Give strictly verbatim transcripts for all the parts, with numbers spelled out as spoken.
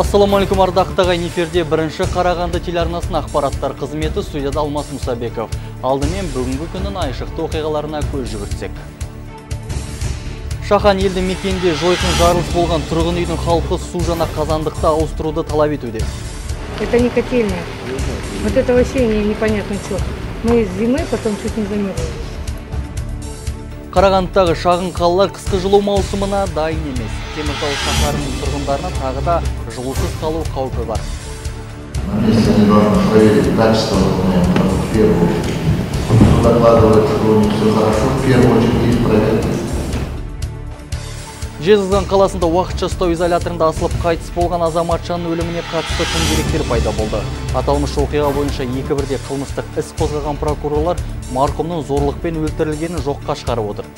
Ассаламу алейкум, ардақты ағайын, эфирде бірінші Қарағанды телеарнасының ақпараттар қызметі, студияда Алмас Мұсабеков. Алдымен бүгінгі күннің айшықты оқиғаларына көз жүгіртсек. Шахан елді мекенде жойқын жарылыс болған тұрғын үйдің халқы су жаңа қазандықта ауыстыруды талап етуде. Это не котельная. Вот это вообще непонятно что. Мы с зимы потом чуть не замерзли. Қарағандыдағы шағын қалалар қысқы жылу маусымына дайын емес. Теміртау шаһарының тұрғындарына тағы да жылусыз қалу қаупі бар. Жезқазған қаласында уақытша ұстау изоляторында асылып қайтыс болған азаматшаның өліміне қатысты тың деректер пайда болды. Аталмыш оқиға бойынша екі бірде қылмыстық іс қозғаған прокурорлар марқұмның зорлықпен өлтірілгенін жоққа шығарып отыр.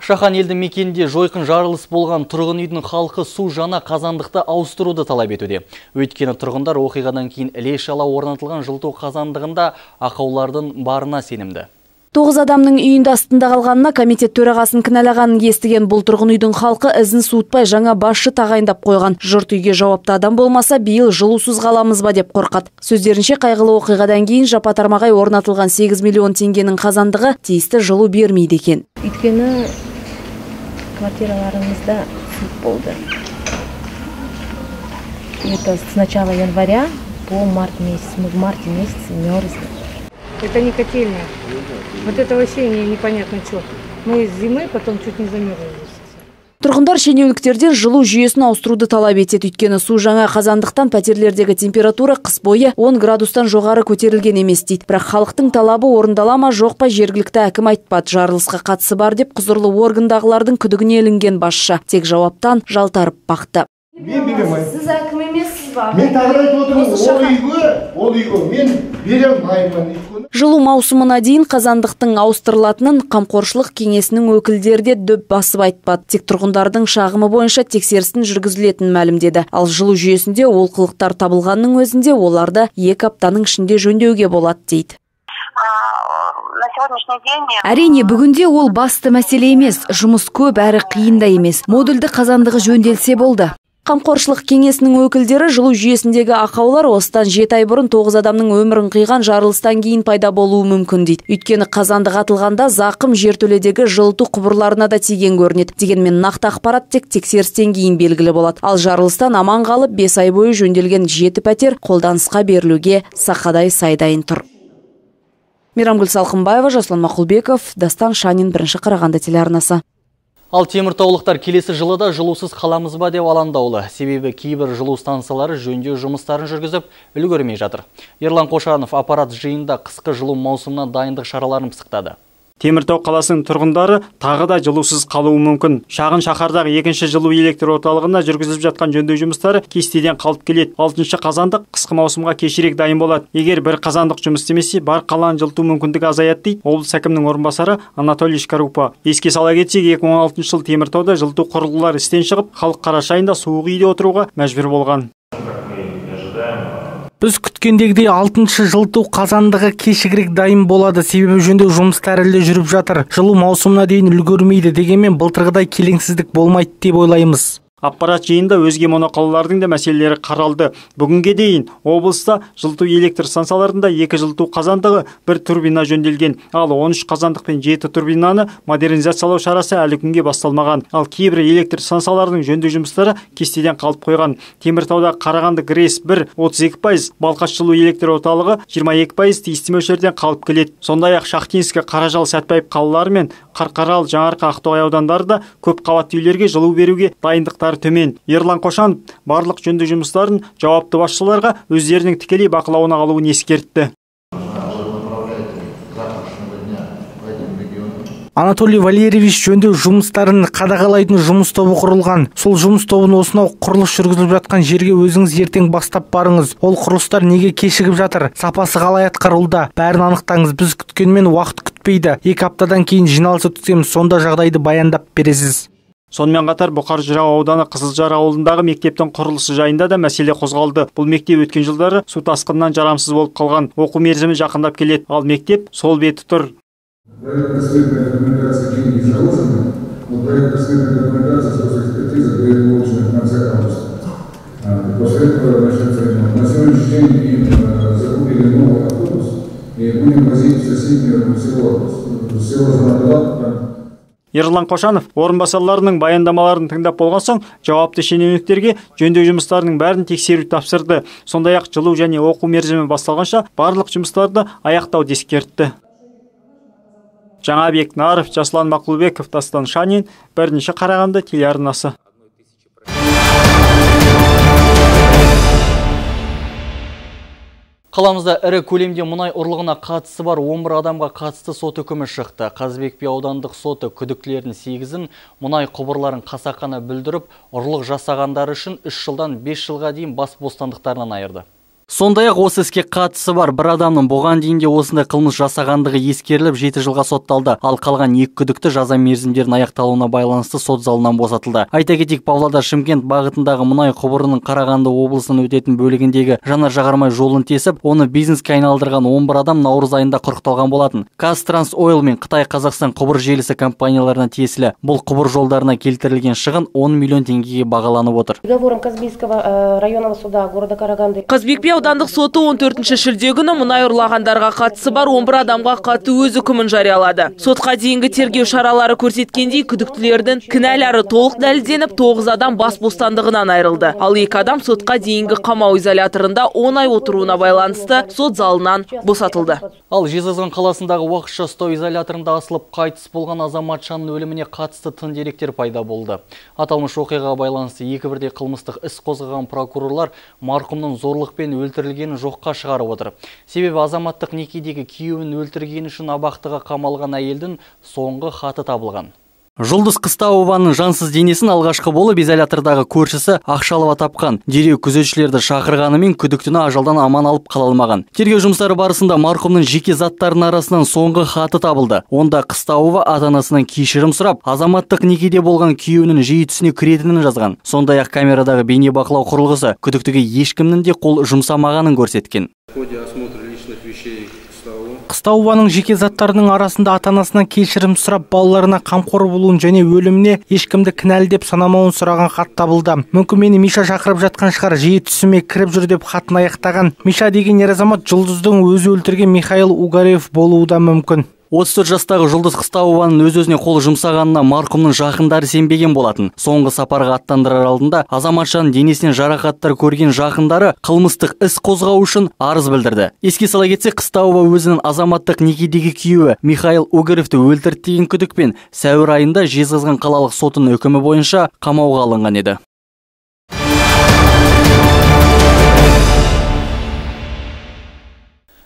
Шахан елді мекенде жойқын жарылыс болған тұрғын үйдің халқы су жаңа қазандықты ауыстыруды талап етуде. Өйткені тұрғындар оқиғадан кейін іле-шала орнатылған жылыту қазандығында ақаулардың барына сенімді. Тоғыз адамның үйінде астында қалғанына комитет төрағасын кінәлағанын естіген бұл тұрғын үйдің халқы ізін суытпай жаңа басшы тағайындап қойған. Жұрт үйге жауапты адам болмаса, биыл жылусыз қаламыз ба деп қорқады. Сөздерінше қайғылы оқиғадан кейін жапа-тармағай орнатылған сегіз миллион теңгенің қазандығы тиісті жылу бермейді екен. Өйткені квартираларымызда суық болды. Это с начала января по март месяц. Мы в марте месяце мерзли. Это не котельная. Вот это вообще непонятно что. Мы с зимы потом чуть не замерзли. Тұрғындар шенеуніктерден жылу жүйесін ауыстыруды талап етеді. Өйткені су жаңа қазандықтан пәтерлердегі температура қыс бойы он градустан жоғары көтерілген емес дейді. Бірақ халықтың талабы орындала ма жоқ па жергілікті әкім айтпады. Жарылысқа қатысы бар деп құзырлы органдағылардың күдігіне ілінген басшы тек жауаптан жалтарып бақты. Мен беремін. Сіз әкім емессіз ба? Мен тағыр айтып отырмын, ол үйге, ол үйге мен беремін. Жылу маусымына дейін қазандықтың ауыстырылатынын қамқоршылық кеңесінің өкілдері де дөп басып айтпады. Тек тұрғындардың шағымы бойынша тексерістің жүргізілетінін мәлімдеді. Ал жылу жүйесінде олқылықтар табылғанның өзінде оларды екі аптаның ішінде жөндеуге болады дейді. Әрине, бүгінде ол басты мәселе емес, жұмыс көп әрі қиын да емес. Модульді қазандығы жөнделсе болды. Қамқоршылық кеңесінің өкілдері жылу жүйесіндегі ақаулар осыдан жеті ай бұрын тоғыз адамның өмірін қиған жарылыстан кейін пайда болуы мүмкін дейді. Өйткені қазандық атылғанда зақым жертөледегі жылыту құбырларына да тиген көрінеді. Дегенмен нақты ақпарат тек тексерістен кейін белгілі болады. Ал жарылыстан аман қалып бес ай бойы жөнделген жеті пәтер қолданысқа берілуге сақадай сайдайын тұр. Мейрамгүл Салқынбаева, Жасұлан Мақұлбеков, Дастан Шанин, бірінші Қарағанды телеарнасы. Ал теміртаулықтар келесі жылы да жылусыз қаламыз ба деп алаңдаулы. Себебі кейбір жылу станциялары жөндеу жұмыстарын жүргізіп үлгермей жатыр. Ерлан Қошанов аппарат жиында қысқы жылу маусымына дайындық шараларын пысықтады. Теміртау қаласының тұрғындары тағы да жылусыз қалуы мүмкін. Шағын шаһардағы екінші жылу электр орталығында жүргізіліп жатқан жөндеу жұмыстары кестеден қалып келеді. алтыншы қазандық қысқы маусымға кешірек дайын болады. Егер бір қазандық жұмыс істемесе, бар қаланы жылыту мүмкіндігі азаяды дейді облыс әкімінің орынбасары Анатолий Шкарупа. Еске сала кетсек, екі мың он алтыншы жылы Теміртауда жылыту құрылғылары істен шығып, халық қараша айында суық үйде отыруға мәжбүр болған. Біз күткендегідей алтыншы жылыту қазандығы кешігірек дайын болады, себебі жөндеу жұмыстары әлі жүріп жатыр. Жылу маусымына дейін үлгермейді, дегенмен былтырғыдай келеңсіздік болмайды деп ойлаймыз. Аппарат жиында өзге моноқалалардың да мәселелері қаралды. Бүгінге дейін облыста жылыту электр станцияларында екі жылыту қазандығы, бір турбина жөнделген. Ал он үш қазандық пен жеті турбинаны модернизациялау шарасы әлі күнге басталмаған. Ал кейбір электр станцияларының жөндеу жұмыстары кестеден қалып қойған. Теміртауда Қарағанды ГРЭС бір отыз екі пайыз, Балқаш жылу электр орталығы жиырма екі пайыз тиісті мөлшерден қалып келеді. Сондай-ақ Шахтинск, Қаражал, Сәтпаев қалалары мен Қарқаралы, Жаңарқа, Ақтоғай аудандарында көп қабатты үйлерге жылу беруге дайындықтар төмен. Ерлан Қошанов барлық жөндеу жұмыстарын жауапты басшыларға өздерінің тікелей бақылауына алуын ескертті. Анатолий Валерьевич жөндеу жұмыстарын қадағалайтын жұмыс тобы құрылған. Сол жұмыс тобын осынау құрылыс жүргізіліп жатқан жерге өзіңіз ертең бастап барыңыз. Ол құрылыстар неге кешігіп жатыр? Сапасы қалай атқарылуда? Бәрін анықтаңыз. Біз күткенмен уақыт күтпейді. Екі аптадан кейін жиналыс өткіземіз, сонда жағдайды баяндап бересіз. Сонымен қатар Бұқар Жырау ауданы Қызылжар ауылындағы мектептің құрылысы жайында да мәселе қозғалды. Бұл мектеп өткен жылдары су тасқынынан жарамсыз болып қалған. Оқу мерзімі жақындап келеді, ал мектеп сол беті тұр. Проект предстоит на рекомендации деньги заложены. Проектно-сметная документация, экспертиза будет получена в конце августа. После этого начнется ремонт. На сегодняшний день им закупили новый автобус и будем возить в соседнее село, село Занаталап. Ерлан Қошанов орынбасарларының баяндамаларын тыңдап болған соң жауапты шенеуніктерге жөндеу жұмыстарының бәрін тексеру тапсырды. Сондай-ақ жылу және оқу мерзімі басталғанша барлық жұмыстарды аяқтауды ескертті. Жаңабек Наров, Жаслан Мақұлбеков, Дастан Шанин, бірінші Қарағанды телеарнасы. Қаламызда ірі көлемде мұнай ұрлығына қатысы бар он бір адамға қатысты сот үкімі шықты. Қазыбек би аудандық соты күдіктілердің сегізін мұнай құбырларын қасақана бүлдіріп, ұрлық жасағандары үшін үш жылдан бес жылға дейін бас бостандықтарынан айырды. Сондай-ақ осы іске қатысы бар бір адамның бұған дейін де осындай қылмыс жасағандығы ескеріліп жеті жылға сотталды. Ал қалған екі күдікті жаза мерзімдерінің аяқталуына байланысты сот залынан босатылды. Айта кетейік, Павлодар Шымкент бағытындағы мұнай құбырының Қарағанды облысынан өтетін бөлігіндегі жанар-жағармай жолын тесіп, оны бизнеске айналдырған он бір адам наурыз айында құрықталған болатын. Қазтрансойл мен Қытай Қазақстан құбыр желісі компанияларына тиесілі бұл құбыр жолдарына келтірілген шығын он миллион теңгеге бағаланып отыр. Договором Казбийского районного суда города Караганды. Қазыбек би аудандық соты он төртінші шілде күні мұнай ұрлағандарға қатысы бар он бір адамға қатты өз үкімін жариялады. Сотқа дейінгі тергеу шаралары көрсеткендей, күдіктілердің кінәлары толық дәлелденіп, тоғыз адам бас бостандығынан айырылды. Ал екі адам сотқа дейінгі қамау изоляторында он ай отыруына байланысты сот залынан босатылды. Ал Жезқазған қаласындағы уақытша ұстау изоляторында асылып қайтыс болған азаматшаның өліміне қатысты тың деректер пайда болды. Аталмыш оқиғаға байланысты екі бірдей қылмыстық іс қозғаған прокурорлар марқұмның зорлықпен өлтірілгенін жоққа шығарып отыр. Себебі азаматтық некедегі күйеуін өлтіргені үшін абақтыға қамалған әйелдің соңғы хаты табылған. Жұлдыз Қыстауованың жансыз денесін алғашқы болып изолятордағы көршісі Ақшалова тапқан. Дереу күзетшілерді шақырғанымен күдіктіні ажалдан аман алып қала алмаған. Тергеу жұмыстары барысында марқұмның жеке заттарының арасынан соңғы хаты табылды. Онда Қыстауова ата-анасынан кешірім сұрап, азаматтық некеде болған күйеуінің жиі түсіне кіретінін жазған. Сондай-ақ камерадағы бейнебақылау құрылғысы күдіктіге ешкімнің де қол жұмсамағанын көрсеткен. Қыстауованың жеке заттарының арасында ата-анасынан кешірім сұрап, балаларына қамқор болуын және өліміне ешкімді кінәлі деп санамауын сұраған хат табылды. Мүмкін мені Миша шақырып жатқан шығар, жиі түсіме кіріп жүр деп хатын аяқтаған. Миша деген ер азамат Жұлдыздың өзі өлтірген Михаил Угарев болуы да мүмкін. отыз төрт жастағы Жұлдыз Қыстауованың өз-өзіне қол жұмсағанына марқұмның жақындары сенбеген болатын. Соңғы сапарға аттандырар алдында азаматшаның денесінен жарақаттар көрген жақындары қылмыстық іс қозғау үшін арыз білдірді. Еске сала кетсек, Қыстауова өзінің азаматтық некедегі күйеуі Михаил Угаровты өлтірді деген күдікпен сәуір айында Жезқазған қалалық сотының үкімі бойынша қамауға алынған еді.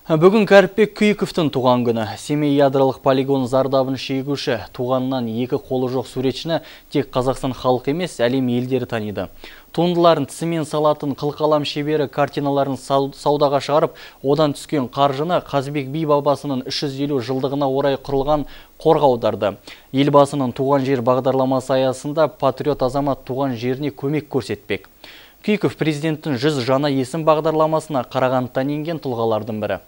Бүгін Кәріпбек Күйіковтің туған күні. Семей ядролық полигон зардабын шегуші туғанынан екі қолы жоқ суретшіні тек Қазақстан халық емес, әлем елдері таниды. Туындыларын тісімен салатын қылқалам шебері картиналарын саудаға шығарып, одан түскен қаржыны Қазыбек би бабасының үш жүз елу жылдығына орай құрылған қорға аударды. Елбасының туған жер бағдарламасы аясында патриот азамат туған жеріне көмек көрсетпек. Күйіков президенттің жүз жаңа есім бағдарламасына Қарағандыдан енген тұлғалардың бірі.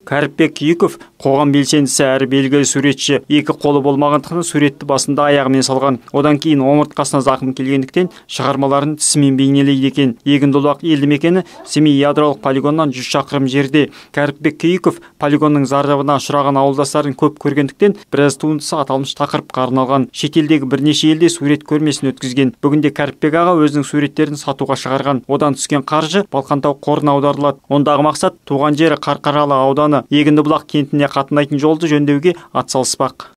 Кәріпбек Күйіков қоғам белсендісі әрі белгілі суретші. Екі қолы болмағандықтан суретті басында аяғымен салған. Одан кейін омыртқасына зақым келгендіктен шығармаларын тісімен бейнелейді екен. Егіндіұлақ елді мекені Семей ядролық полигоннан жүз шақырым жерде. Кәріпбек Күйіков полигонның зардабына ұшыраған ауылдастарын көп көргендіктен біраз туындысы аталмыш тақырыпқа арналған. Шетелдегі бірнеше елде сурет көрмесін өткізген. Бүгінде Кәріпбек аға өзінің суреттерін сатуға шығарған. Одан түскен қаржы Балқантау қорына аударылады. Ондағы мақсат туған жері Қарқаралы ауданы Егіндіұлақ кентіне қатынайтын жолды жөндеуге атсалыспақ.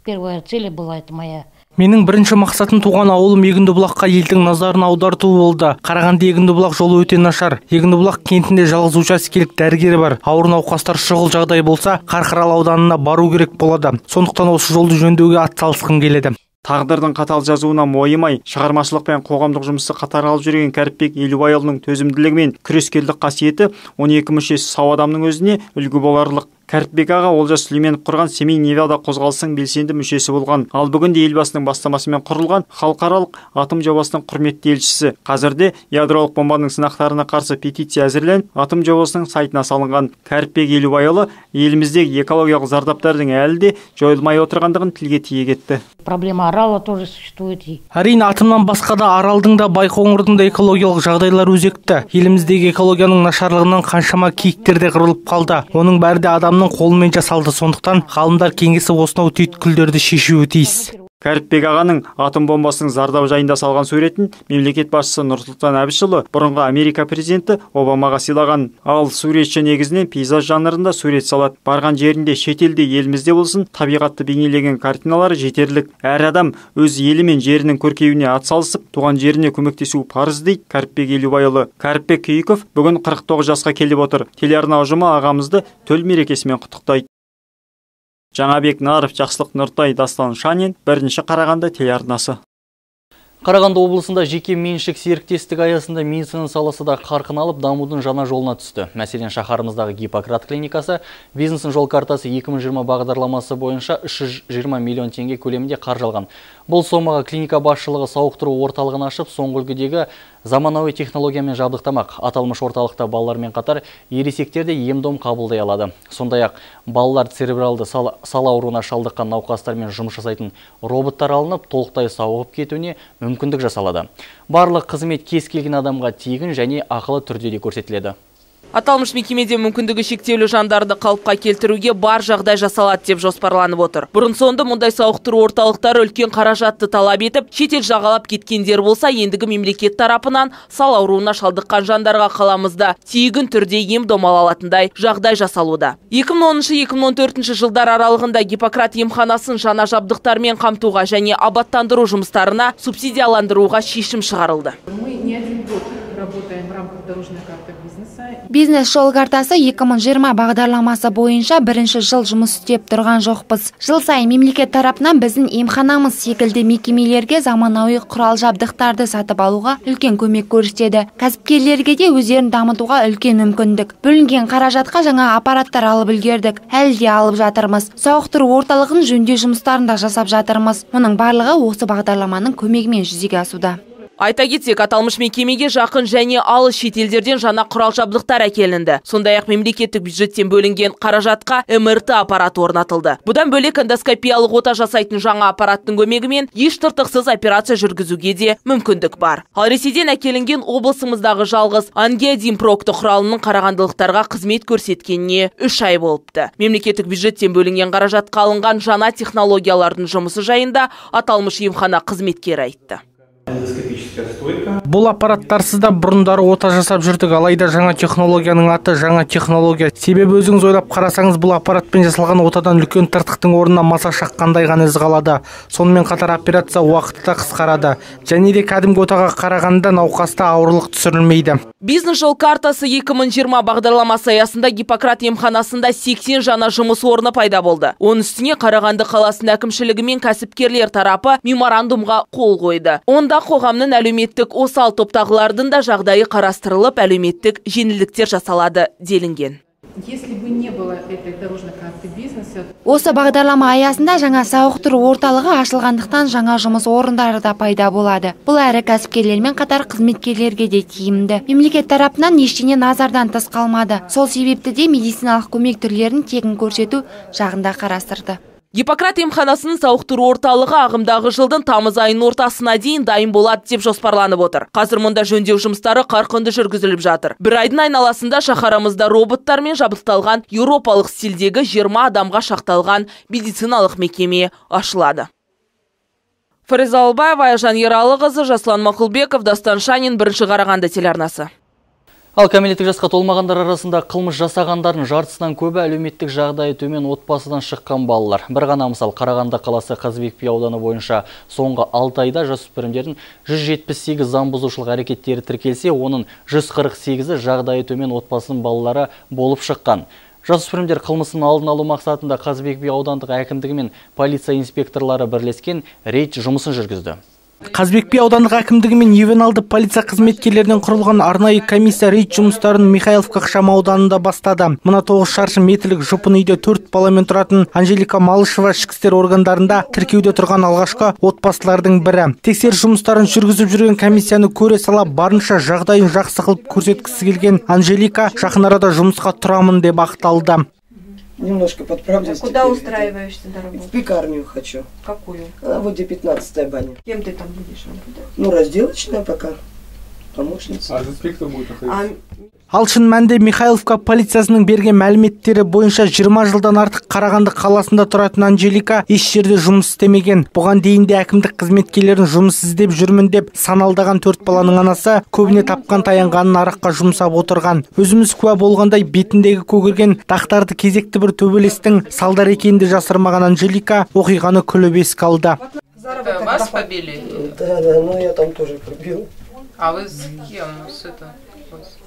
Первая цель была это моя. Менің бірінші мақсатым туған ауылым Егіндіұлаққа елдің назарын аударту болды. Қарағанды Егіндіұлақ жолы өте нашар. Егіндіұлақ кентінде жалғыз учаскелік дәрігері бар. Ауыр науқастар шұғыл жағдай болса, Қарқаралы ауданына бару керек болады. Сондықтан осы жолды жөндеуге атсалысқым келеді. Тағдырдың қатал жазуына мойымай, шығармашылық пен қоғамдық жұмысты қатар алып жүрген Кәріпбек Елубайұлының төзімділігі мен күрескерлік қасиеті он екі мүшесі сау адамның өзіне үлгі боларлық. Кәріпбек аға Олжас Сүлейменов құрған Семей Невада қозғалысының белсенді мүшесі болған. Ал бүгінде елбасының бастамасымен құрылған халықаралық атом жобасының құрметті елшісі. Қазірде ядролық бомбаның сынақтарына қарсы петиция әзірленіп, атом жобасының сайтына салынған. Кәріпбек Елубайұлы еліміздегі экологиялық зардаптардың әлі де жойылмай отырғандығын тілге тиек етті. Проблема Арала тоже существует. Әрине, атомнан басқа да Аралдың да Байқоңырдың да экологиялық жағдайлар өзекті. Еліміздегі экологияның нашарлығынан қаншама киіктер де қырылып қалды. Оның бәрі де адамның қолымен жасалды. Сондықтан ғалымдар кеңесі осынау түйткілдерді шешуі тиіс. Кәріпбек ағаның атом бомбасының зардабы жайында салған суретін мемлекет басшысы Нұрсұлтан Әбішұлы бұрынғы Америка президенті Обамаға сыйлаған. Ал суретші негізінен пейзаж жанрында сурет салады. Барған жерінде, шетелде, елімізде болсын, табиғатты бейнелеген картиналары жетерлік. Әр адам өз елі мен жерінің көркеюіне атсалысып, туған жеріне көмектесу парыз дейді Кәріпбек Елубайұлы. Кәріпбек Күйіков бүгін қырық тоғыз жасқа келіп отыр. Телеарна ұжымы ағамызды төл мерекесімен құттықтайды. Жаңабек Наров, Жақсылық Нұртай, Дастан Шанин, бірінші Қарағанды телеарнасы. Қарағанды облысында жеке меншік серіктестік аясында медицина саласы да қарқын алып, дамудың жаңа жолына түсті. Мәселен, шаһарымыздағы Гиппократ клиникасы бизнестің жол картасы екі мың жиырма бағдарламасы бойынша үш жүз жиырма миллион теңге көлемінде қаржылған. Бұл сомаға клиника басшылығы сауықтыру орталығын ашып, соңғы үлгідегі заманауи технологиямен жабдықтамақ. Аталмыш орталықта балалармен қатар ересектер де ем-дом қабылдай алады. Сондай-ақ балалар церебралды сал, сал ауруына шалдыққан науқастармен жұмыс жасайтын роботтар алынып, толықтай сауығып кетуіне мүмкіндік жасалады. Барлық қызмет кез келген адамға тегін және ақылы түрде де көрсетіледі. Аталмыш мекемеде мүмкіндігі шектеулі жандарды қалыпқа келтіруге бар жағдай жасалады деп жоспарланып отыр. Бұрын соңды мұндай сауықтыру орталықтары үлкен қаражатты талап етіп, шетел жағалап кеткендер болса, ендігі мемлекет тарапынан сал ауруына шалдыққан жандарға қаламызда тегін түрде ем-дом ала алатындай жағдай жасалуда. екі мың оныншы - екі мың он төртінші жылдар аралығында Гиппократ емханасын жаңа жабдықтармен қамтуға және абаттандыру жұмыстарына субсидияландыруға шешім шығарылды. Бизнес жол картасы екі мың жиырма бағдарламасы бойынша бірінші жыл жұмыс істеп тұрған жоқпыз. Жыл сайын мемлекет тарапынан біздің емханамыз секілді мекемелерге заманауи құрал жабдықтарды сатып алуға үлкен көмек көрсетеді. Кәсіпкерлерге де өздерін дамытуға үлкен мүмкіндік. Бөлінген қаражатқа жаңа аппараттар алып үлгердік. Әлі де алып жатырмыз. Сауықтыру орталығын жөндеу жұмыстарын да жасап жатырмыз. Мұның барлығы осы бағдарламаның көмегімен жүзеге асуда. Айта кетсек, аталмыш мекемеге жақын және алыс шетелдерден жаңа құрал жабдықтар әкелінді. Сондай-ақ мемлекеттік бюджеттен бөлінген қаражатқа эм эр тэ аппараты орнатылды. Бұдан бөлек эндоскопиялық ота жасайтын жаңа аппараттың көмегімен еш тыртықсыз операция жүргізуге де мүмкіндік бар. Ал Ресейден әкелінген облысымыздағы жалғыз ангиодин прокты құралының қарағандылықтарға қызмет көрсеткеніне үш ай болыпты. Мемлекеттік бюджеттен бөлінген қаражатқа алынған жаңа технологиялардың жұмысы жайында аталмыш емхана қызметкері айтты. Бұл аппараттарсыз да бұрындары ота жасап жүрдік, алайда жаңа технологияның аты жаңа технология. Себебі өзіңіз ойлап қарасаңыз, бұл аппаратпен жасалған отадан үлкен тыртықтың орнына маса шаққандай ғана із қалады. Сонымен қатар операция уақыты да қысқарады. Және де кәдімгі отаға қарағанда науқаста ауырлық түсірілмейді. Бизнес жол картасы екі мың жиырма бағдарламасы аясында Гиппократ емханасында сексен жаңа жұмыс орны пайда болды. Оның үстіне Қарағанды қаласының әкімшілігі мен кәсіпкерлер тарапы меморандумға қол қойды. Онда қоғамның әлеуметтік осал топтағылардың да жағдайы қарастырылып, әлеуметтік жеңілдіктер жасалады делінген. Осы бағдарлама аясында жаңа сауықтыру орталығы ашылғандықтан жаңа жұмыс орындары да пайда болады. Бұл әрі кәсіпкерлермен қатар қызметкерлерге де тиімді. Мемлекет тарапынан ештеңе назардан тыс қалмады. Сол себепті де медициналық көмек түрлерін тегін көрсету жағында қарастырды. Гиппократ емханасының сауықтыру орталығы ағымдағы жылдың тамыз айының ортасына дейін дайын болады деп жоспарланып отыр. Қазір мұнда жөндеу жұмыстары қарқынды жүргізіліп жатыр. Бір айдың айналасында шаһарымызда роботтармен жабдықталған еуропалық стильдегі жиырма адамға шақталған медициналық мекеме ашылады. Фариза Албаева, Айжан Ералықызы, Жаслан Мақұлбеков, Дастан Шанин, бірінші Қарағанды телеарнасы. Ал кәмелеттік жасқа толмағандар арасында қылмыс жасағандардың жартысынан көбі әлеуметтік жағдайы төмен отбасыдан шыққан балалар. Бір ғана мысал, Қарағанды қаласы Қазыбек би ауданы бойынша соңғы алты айда жасөспірімдердің жүз жетпіс сегіз заң бұзушылық әрекеттері тіркелсе, оның жүз қырық сегізі жағдайы төмен отбасының балалары болып шыққан. Жасөспірімдер қылмысын алдын алу мақсатында Қазыбек би аудандық әкімдігі мен полиция инспекторлары бірлескен рейд жұмысын жүргізді. Қазбек би аудандық әкімдігі мен ювеналды полиция қызметкерлерінен құрылған арнайы комиссия рейд жұмыстарын Михайловка ықшам ауданында бастады. Мына тоғыз шаршы метрлік жұпын үйде төрт баламен тұратын Анжелика Малышева ішкі істер органдарында тіркеуде тұрған алғашқы отбасылардың бірі. Тексеріс жұмыстарын жүргізіп жүрген комиссияны көре сала барынша жағдайын жақсы қылып көрсеткісі келген Анжелика жақын арада жұмысқа тұрамын деп ақталды. Немножко подправлюсь. Куда устраиваешься на работу? В пекарню хочу. Какую? А вот где пятнадцатая баня. Кем ты там будешь работать? Ну, разделочная пока. Помощница. А инспектор будет находиться? Ал шын мәнінде Михайловка полициясының берген мәліметтері бойынша жиырма жылдан артық Қарағанды қаласында тұратын Анжелика еш жерде жұмыс істемеген. Бұған дейін де әкімдік қызметкерлерін жұмыс іздеп жүрмін деп саналдаған төрт баланың анасы көбіне тапқан таянғанын араққа жұмсап отырған. Өзіміз куә болғандай бетіндегі көгерген дақтарды кезекті бір төбелестің салдар екенін де жасырмаған Анжелика оқиғаны күліп еске алды. Вас побили? Да, да, ну я там тоже побил. А вы с кем? С это?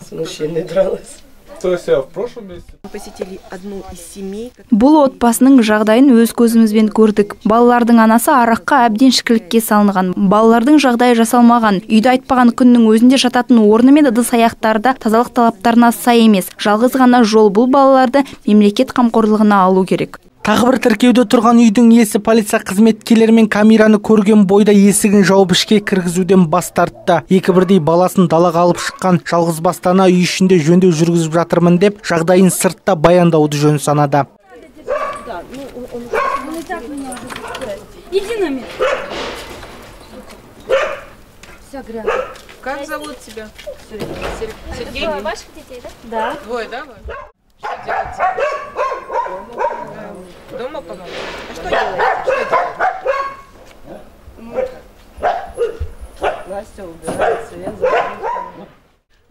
С мужчиной дралась. То есть я в прошлом месяце? Посетили одну из семей. Бұл отбасының жағдайын өз көзімізбен көрдік. Балалардың анасы араққа әбден шікілікке салынған. Балалардың жағдайы жасалмаған. Үйді айтпаған күннің өзінде жататын орны мен ыдыс аяқтарда тазалық талаптарына сай емес. Жалғыз ғана жол бұл балаларды мемлекет қамқорлығына алу керек. Тағы бір тіркеуде тұрған үйдің иесі полиция қызметкерлерімен камераны көрген бойда есігін жауып ішке кіргізуден бас тартты. Екі бірдей баласын далаға алып шыққан жалғыз бастана үй ішінде жөндеу жүргізіп жатырмын деп жағдайын сыртта баяндауды жөн санады. Как зовут тебя? Сергей? Ваших детей, да? Да. Двое, да? Что делаете? Дома помогать? А что делаете? Что делаете? Настя убирается, я забыла.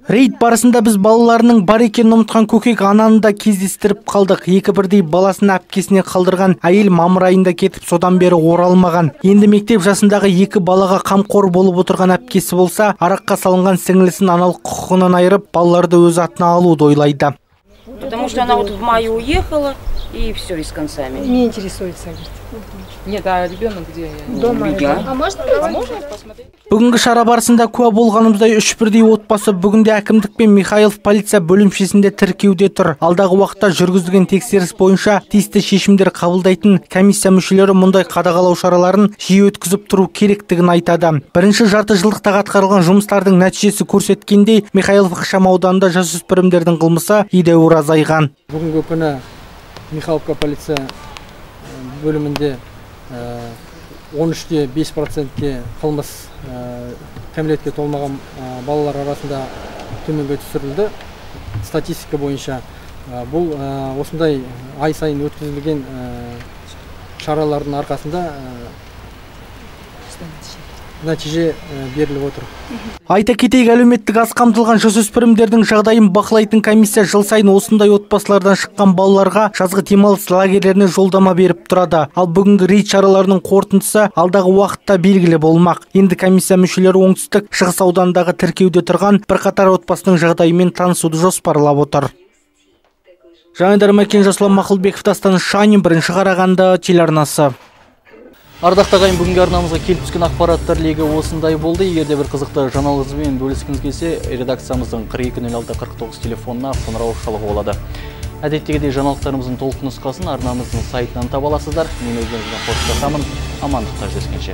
Рейд барысында біз балаларының бар екенін ұмытқан көкек ананы да кездестіріп қалдық. Екі бірдей баласын әпкесіне қалдырған әйел мамыр айында кетіп, содан бері оралмаған. Енді мектеп жасындағы екі балаға қамқор болып отырған әпкесі болса, араққа салынған сіңлісін аналық құқығынан айырып, балаларды өз атына алуды ойлайды. Потому что она вот в мае уехала, и все, и с концами. Не интересуется, говорит. Нет, а ребенок где? Дома. А можно, а можно посмотреть? Бүгінгі шара барысында куә болғанымыздай үш бірдей отбасы бүгінде әкімдік пен Михайлов полиция бөлімшесінде тіркеуде тұр. Алдағы уақытта жүргізілген тексеріс бойынша тиісті шешімдер қабылдайтын комиссия мүшелері мұндай қадағалау шараларын жиі өткізіп тұру керектігін айтады. Бірінші жарты жылдықта атқарылған жұмыстардың нәтижесі көрсеткендей, Михайлов ықшам ауданында жасөспірімдердің қылмысы едәуір азайған. Бүгінгі күні Михайловка полиция бөлімінде он үште бес процентке қылмыс кәмелетке толмаған балалар арасында төменге түсірілді. Статистика бойынша бұл осындай ай сайын өткізілген шаралардың арқасында нәтиже беріліп отыр. Айта кетейік, әлеуметтік аз қамтылған жасөспірімдердің жағдайын бақылайтын комиссия жыл сайын осындай отбасылардан шыққан балаларға жазғы демалыс лагерлеріне жолдама беріп тұрады. Ал бүгінгі рейд шараларының қорытындысы алдағы уақытта белгілі болмақ. Енді комиссия мүшелері оңтүстік шығыс аудандағы тіркеуде тұрған бірқатар отбасының жағдайымен танысуды жоспарлап отыр. Жаңадар Мәкен, Жасұлан Мақұлбеков, Дастан Шанин, бірінші Қарағанды телеарнасы. Ардақта ағайын, бүгінгі арнамызға келіп түскен ақпараттар легі осындай болды. Егерде бір қызықты жаңалығыңызбен бөліскіңіз келсе, редакциямыздың қырық екі нөл алты қырық тоғыз телефонына қоңырау шалуға болады. Әдеттегідей жаңалықтарымыздың толық нұсқасын арнамыздың сайтынан таба аласыздар. Мен өздеріңізбен қоштасамын. Амандықта жүздескенше.